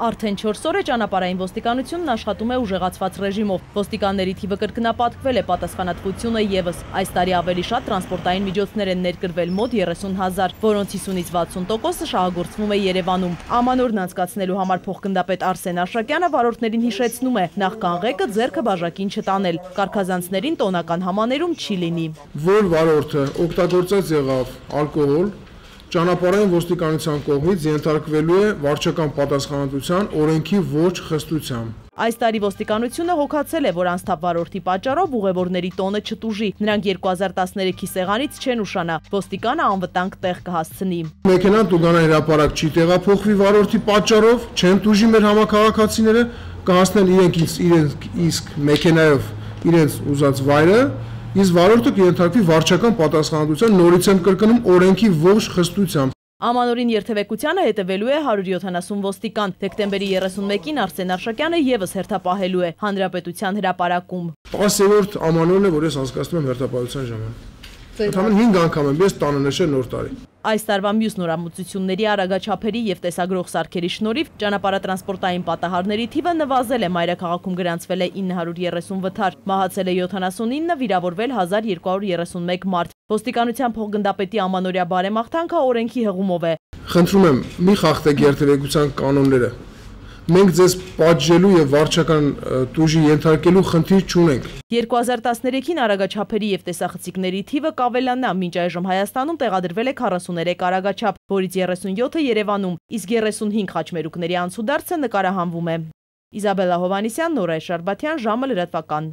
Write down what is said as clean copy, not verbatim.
Արդեն 4 օր է ճանապարհային ոստիկանությունն աշխատում է ուժեղացված ռեժիմով։ Ոստիկանների թիվը կրկնապատկվել է, պատասխանատվությունը ևս։ Այս տարի ավելի շատ տրանսպորտային միջոցներ են ներկրվել, մոտ 30,000, որոնց 50-ից 60%-ը շահագործվում է Երևանում։ Ամանորն անցկացնելու համար փոխգնդապետ Արսեն Աշակյանը վարորդներին հիշեցնում է, նախքան ղեկը ձեռքը բաժակին չտանել, կարգազանցներին տոնական համաներում չի լինի։ Որ վարորդը օգտագործած եղավ ալկոհոլ, ճանապարհային ոստիկանության կողմից ենթարկվելու է վարչական պատասխանատվության օրենքի ոչ խստությամբ։ Այս տարի ոստիկանությունը հոգացել է, որ անսթափ վարորդի պատճառով ուղևորների տոնը չտուժի։ Նրանք 2013-ի սեղանից չեն ուշանա, ոստիկանը անվտանգ տեղ կհասցնի։ Մեքենան տուգանա հրապարակ չի տեղափոխվի վարորդի պատճառով, չեն տուժի մեր համակարգացիները, կհասնեն իրենք իսկ մեքենայով իրենց ուզած վայրը, իսկ վարորդը կենթարկվի վարչական պատասխանատվության, նորից եմ կրկնում, օրենքի ոչ խստությամբ։ Ամանորին երթևեկությանը հետևելու է 170 ոստիկան։ Դեկտեմբերի 31-ին Արսեն Աշակյանը ևս հերթապահելու է Հանրապետության հրապարակում։ 10-րդ ամանորն է, որ ես անցկացնում եմ հերթապահության ժամանակ։ Ընդհանրապես 5 անգամ եմ ես տանը նշել նոր տարի։ Այս տարվա մյուս նորամուծությունների արագաչափերի եւ տեսագրող սարքերի շնորհիվ ճանապարհատրանսպորտային պատահարների թիվը նվազել է, մայրաքաղաքում գրանցվել է 930 վթար, մահացել է 79, վիրավորվել 1231 մարդ։ Ոստիկանության փոխգնդապետի ամանորյա բարեմաղթանքը օրենքի հղումով է։ Խնդրում եմ, մի խախտեք երթևեկության կանոնները։ Մենք ձեզ պատժելու եւ վարչական տուժի ենթարկելու խնդիր չունենք։ 2013-ին արագաչափերի եւ տեսախցիկների թիվը կավելանա, մինչ այժմ Հայաստանում տեղադրվել է 43 արագաչափ, որից 37-ը Երևանում, իսկ 35 խաչմերուկների անցուդարձը նկարահանվում է։ Իզաբելլա Հովհաննիսյան, Նորայր Շարբաթյան, ժամը լրատվական։